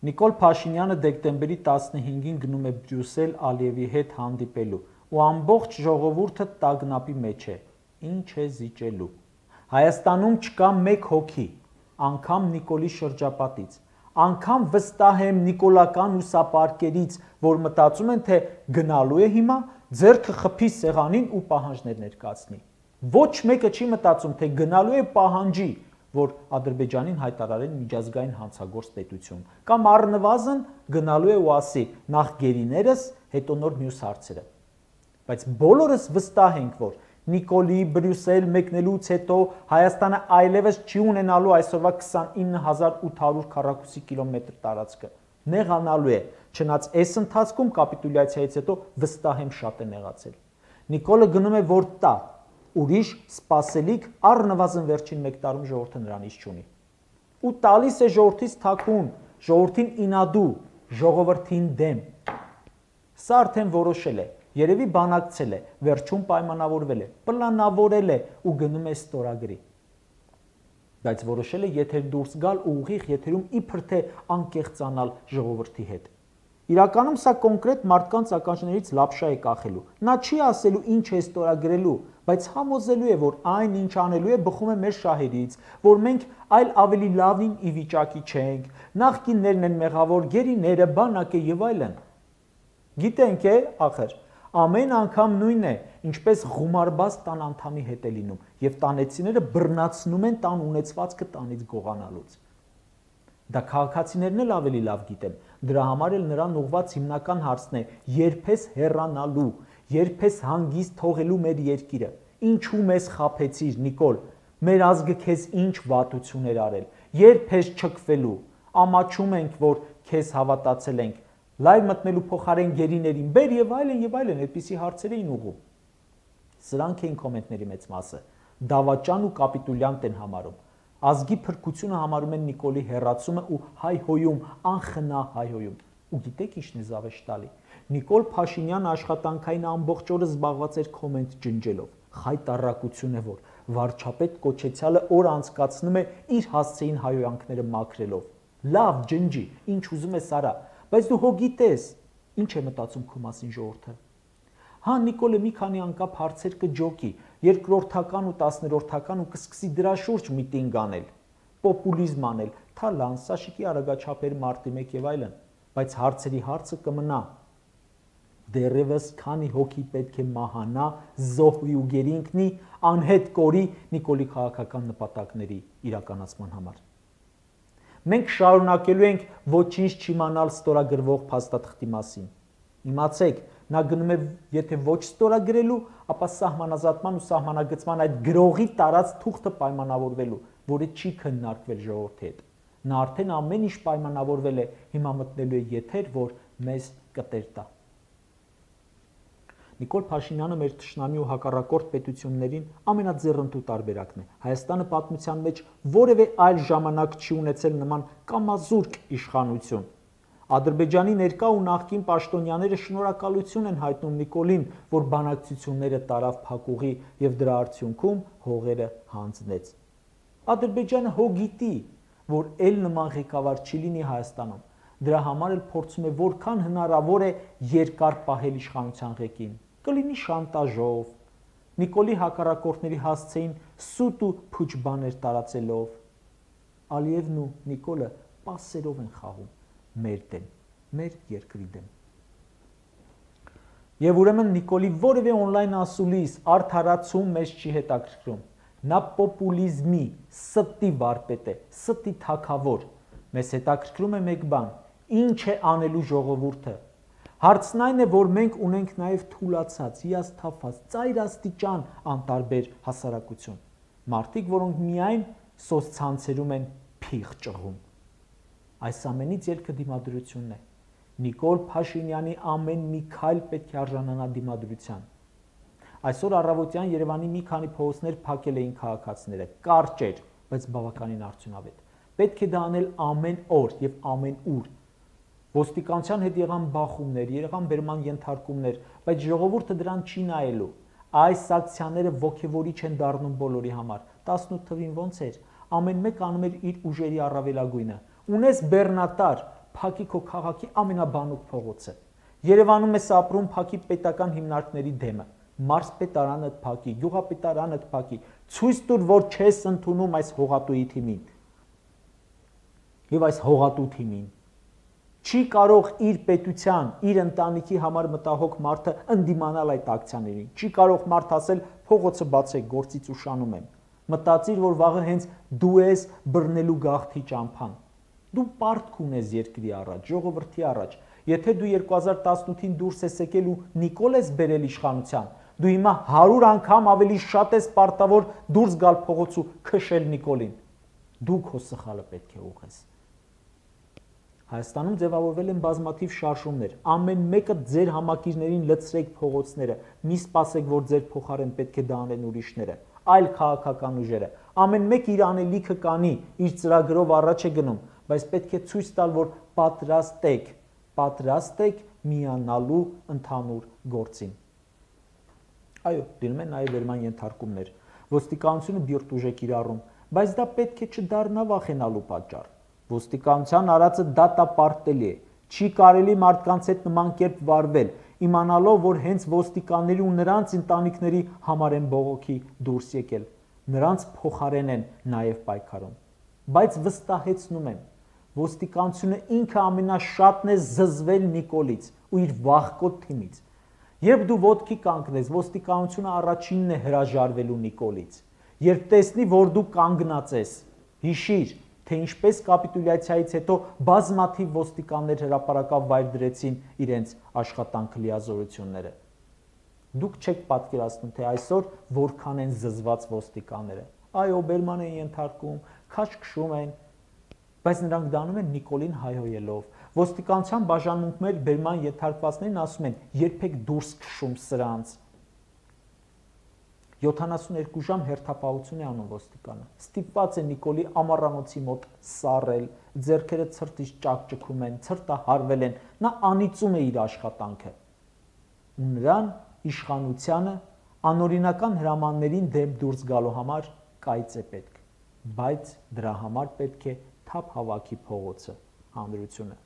Նիկոլ Փաշինյանը դեկտեմբերի 15-ին գնում է Բրյուսել Ալիևի հետ հանդիպելու ու ամբողջ ժողովուրդը տագնապի մեջ է։ Ինչ է զիջելու։ Հայաստանում չկա մեկ հոգի, անգամ Նիկոլի շրջապատից, անգամ վստահ եմ նիկոլական ուսապարկերից, որ մտածում են, թե գնալու է հիմա, ձեռքը խփի սեղանին ու պահանջներ ներկայացնի։ Ոչ մեկը չի մտածում, թե գնալու է պահանջի, որ Ադրբեջանին հայտարարեն միջազգային հանցագործ պետություն, կամ առնվազն գնալու է ու ասի նախ գերիներս, հետո նոր մյուս հարցերը։ Բայց բոլորս վստահ ենք, որ Նիկոլի Բրյուսել մեկնելուց հետո Հայաստանը այլևս չի ունենալու այսօրվա 29800 քառակուսի կիլոմետր տարածքը, նեղանալու է, չնայած այս ընթացքում կապիտուլյացիայից հետո վստահ եմ շատ է նեղացել։ Նիկոլը գնում է որ տա, ուրիշ սպասելիք առնվազն վերջին 1 տարում ժողովուրդը նրանից չունի։ Ու տալիս է ժողովրդից թաքուն, ժողովրդին ինադու, ժողովրդին դեմ։ Սա արդեն որոշել է, երևի բանակցել է, վերջում պայմանավորվել է, պլանավորել է ու գնում է ստորագրի։ Բայց որոշել է եթեր դուրս գալ ու ուղիղ եթերում իբր թե անկեղծանալ ժողովրդի հետ։ Իրականում սա կոնկրետ մարդկանց ականջներից լապշա է կախելու։ Նա չի ասելու ինչ է ստորագրելու, բայց համոզելու է, որ այն ինչ անելու է բխում է մեր շահերից, որ մենք այլ ավելի լավին ի վիճակի չենք, նախկիններն են մեղավոր, գերիները, բանակը եւ այլն։ Գիտենք է, ախր, ամեն անգամ նույնն է, ինչպես ղումարբազ տան անդամի հետ է լինում, եւ տանեցիները բռնացնում են տան ունեցվածքը տանից գողանալուց։ Դա քաղաքացիներն էլ ավելի լավ գիտեն, դրա համար էլ նրան ուղված հիմնական հարցն է երբ ես հեռանալու, երբ ես հանգիստ թողելու մեր երկիրը, ինչու մեզ խաբեցիր Նիկոլ, մեր ազգը քեզ ինչ վատություն էր արել, երբ ես չքվելու, ամաչում ենք, որ քեզ հավատացել ենք, լայվ մտնելու փոխարեն գերիներին բեր եւ այլն, այդպիսի հարցեր էին ուղղում։ Սրանք էին կոմենտների մեծ մասը, դավաճան ու կապիտուլյանտ են համարում։ Ազգի փրկությունը համարում են Նիկոլի հեռացումը ու հայհոյում, անխնա հայհոյում։ Ու գիտեք ինչն է զավեշտալի։ Նիկոլ Փաշինյանը աշխատանքային ամբողջ օրը զբաղված էր կոմենտ ջնջելով։ Խայտառակություն է, որ վարչապետ կոչեցյալը օր անցկացնում է իր հասցեին հայհոյանքները մաքրելով։ Լավ ջնջի, ինչ ուզում ես արա, բայց դու հո գիտես, ինչ է մտածում քո մասին ժողովուրդը։ Հա Նիկոլը մի քանի անկապ հարցեր կջոկի, երկրորդական ու 10-րդական ու կսկսի դրա շուրջ միտինգ անել, պոպուլիզմ անել, թալան, Սաշիկի արագաչափեր մարտի 1 եւ այլն, բայց հարցերի հարցը կմնա։ Դեռևս քանի հոգի պետք է մահանա, զոհվի ու գերինքնի, անհետ կորի Նիկոլի քաղաքական նպատակների իրականացման համար։ Մենք շարունակելու ենք ոչինչ չիմանալ ստորագրվող փաստաթղթի մասին։ Իմացեք, նա գնում է եթե ոչ ստորագրելու, ապա սահմանազատման ու սահմանագծման այդ գրողի տարած թուղթը պայմանավորվելու, որը չի քննարկվել ժողովրդի հետ։ Նա արդեն ամեն ինչ պայմանավորվել է, հիմա մտնելու է եթեր, որ մեզ կտեր տա։ Նիկոլ Փաշինյանը մեր թշնամի ու հակառակորդ պետություններին ամենաձեռնտու տարբերակն է։ Հայաստանը պատմության մեջ որևէ այլ ժամանակ չի ունեցել նման կամազուրկ իշխանություն։ Ադրբեջանի ներկա ու նախկին պաշտոնյաները շնորհակալություն են հայտնում Նիկոլին, որ բանակցությունները տարավ փակուղի եւ դրա արդյունքում հողերը հանձնեց։ Ադրբեջանը հո գիտի, որ ել նման ղեկավար չի լինի Հայաստանում։ Դրա համար էլ փորձում է որքան հնարավոր է երկար պահել իշխանության ղեկին։ Կլինի շանտաժով, Նիկոլի հակառակորդների հասցեին սուտ ու փուչ բաներ տարածելով։ Ալիևն ու Նիկոլը պասերով են խաղում մեր դեմ, մեր երկրի դեմ։ Եվ ուրեմն Նիկոլի որևէ օնլայն ասուլիս, արդարացում մեզ չի հետաքրքրում։ Նա պոպուլիզմի, ստի վարպետ է, ստի թագավոր։ Մեզ հետաքրքրում է մեկ բան, ինչ է անելու ժողովուրդը։ Հարցն այն է, որ մենք ունենք նաև թուլացած, հիասթափված, ծայրաստիճան անտարբեր հասարակություն։ Մարդիկ, որոնք միայն սոցցանցերում են փիղ ճղում։ Այս ամենից ելքը դիմադրությունն է։ Նիկոլ Փաշինյանի ամեն մի քայլ պետք է արժանանա դիմադրության։ Այսօր առավոտյան Երևանի մի քանի փողոցներ փակել էին քաղաքացիները, կարճ էր, բայց բավականին արդյունավետ։ Պետք է դա անել ամեն օր եւ ամեն ուր։ Ոստիկանության հետ եղան բախումներ, եղան բերման ենթարկումներ, բայց ժողովուրդը դրան չի նայելու։ Այս ակցիաները ոգևորիչ են դառնում բոլորի համար։ 18 թվին ոնց էր, ամեն մեկ անում էր իր ուժերի առավելագույնը։ Ունես բեռնատար, փակի քո քաղաքի ամենաբանուկ փողոցը։ Երևանում ես ապրում, փակի պետական հիմնարկների դեմը, մարզպետարանդ փակի, գյուղապետարանդ փակի, ցույց տուր, որ չես ընդունում այս հողատուի թիմին։ Եվ այս հողատու թիմին չի կարող իր պետության, իր ընտանիքի համար մտահոգ մարդը ընդդիմանալ այդ ակցիաներին։ Չի կարող մարդ ասել փողոցը բացեք, գործից ուշանում եմ։ Մտածիր, որ վաղը հենց դու ես բռնելու գաղթի ճամփան։ Դու պարտք ունես երկրի առաջ, ժողովրդի առաջ։ Եթե դու 2018-ին դուրս ես եկել ու Նիկոլ ես բերել իշխանության, դու հիմա 100 անգամ ավելի շատ ես պարտավոր դուրս գալ փողոց ու քշել Նիկոլին։ Դու քո սխալը պետք է ուղղես։ Հայաստանում ձևավորվել են բազմաթիվ շարժումներ, ամեն մեկը ձեր համակիրներին լցրեք փողոցները, մի սպասեք, որ ձեր փոխարեն պետք է դա անեն ուրիշները, այլ քաղաքական ուժերը, ամեն մեկ իր անելիքը կանի, իր ծրագրով առաջ է գնում, բայց պետք է ցույց տալ, որ պատրաստ եք միանալու ընդհանուր գործին։ Այո, դնում են նաև վերման ենթարկումներ, ոստիկանությունը բիրտ ուժ է կիրառում, բայց դա պետք է չդառնա վախենալու պատճառ։ Ոստիկանության արածը դատապարտելի է, չի կարելի մարդկանց հետ նման կերպ վարվել, իմանալով, որ հենց ոստիկանների ու նրանց ընտանիքների համար են բողոքի դուրս եկել, նրանց փոխարեն են նաև պայքարում։ Բայց վստահեցնում եմ, ոստիկանությունը ինքը ամենաշատն է զզվել Նիկոլից ու իր վախկոտ թիմից։ Երբ դու ոտքի կանգնես, ոստիկանությունը առաջինն է հրաժարվելու Նիկոլից։ Երբ տեսնի, որ դու կանգնած ես, հիշիր, թե ինչպես կապիտուլյացիայից հետո բազմաթիվ ոստիկաններ հրապարակավ վայր դրեցին իրենց աշխատանքը լիազորությունները։ Դուք չեք պատկերացնում, թե այսօր որքան են զզված ոստիկանները։ Այո, բերման են ենթարկում, քաջ քշում են, բայց նրանք դա անում են Նիկոլին հայհոյելով։ Ոստիկանության բաժանմունքներ բերման ենթարկվածներին ասում են, երբեք դուրս քշում սրանց։ 72 ժամ հերթապահություն է անում ոստիկանը։ Ստիպված է Նիկոլի ամառանոցի մոտ սառել, ձեռքերը ցրտից ճակճկում են, ցրտահարվել են, նա անիծում է իր աշխատանքը։ Ու նրան իշխանությանը անօրինական հրամաններին դեմ դուրս գալու համար կայծ է պետք, բայց դրա համար պետք է թափ հավաքի փողոցը, հանրությունը։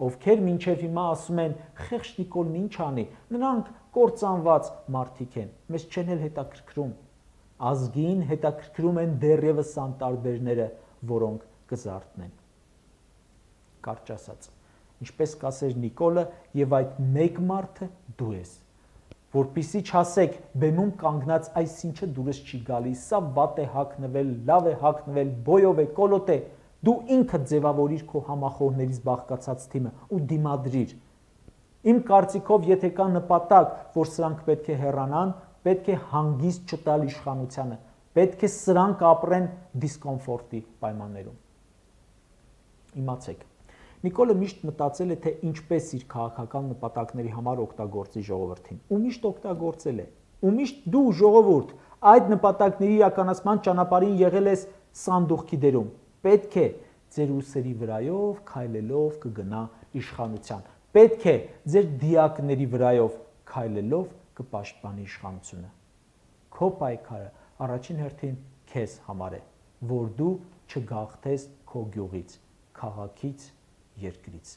Ովքեր մինչև հիմա ասում են խեղճ Նիկոլն ինչ անի, նրանք կործանված մարդիկ են, մեզ չեն էլ հետաքրքրում, ազգին հետաքրքրում են դեռևս անտարբերները, որոնք կզարթնեն։ Կարճ ասած, ինչպես կասեր Նիկոլը, եւ այդ մեկ մարդը դու ես, որպիսի չասեք բեմում կանգնած այս ինչը դուրս չի գալիս, սա վատ է հագնվել, լավ է հագնվել, բոյով է, կոլոտ է, դու ինքդ ձևավորիր քո համախոհներից բաղկացած թիմը ու դիմադրիր։ Իմ կարծիքով, եթե կա նպատակ, որ սրանք պետք է հեռանան, պետք է հանգիստ չտալ իշխանությանը, պետք է սրանք ապրեն դիսկոմֆորտի պայմաններում։ Իմացեք, Նիկոլը միշտ մտածել է, թե ինչպես իր քաղաքական նպատակների համար օգտագործի ժողովրդին, ու միշտ օգտագործել է, ու միշտ դու ժողովուրդ այդ նպատակների իրականացման ճանապարհին եղել ես սանդուղքի դերում, պետք է ձեր ուսերի վրայով քայլելով կգնա իշխանության, պետք է ձեր դիակների վրայով քայլելով կպաշտպանի իշխանությունը։ Քո պայքարը առաջին հերթին քեզ համար է, որ դու չգաղթես քո գյուղից, քաղաքից, երկրից։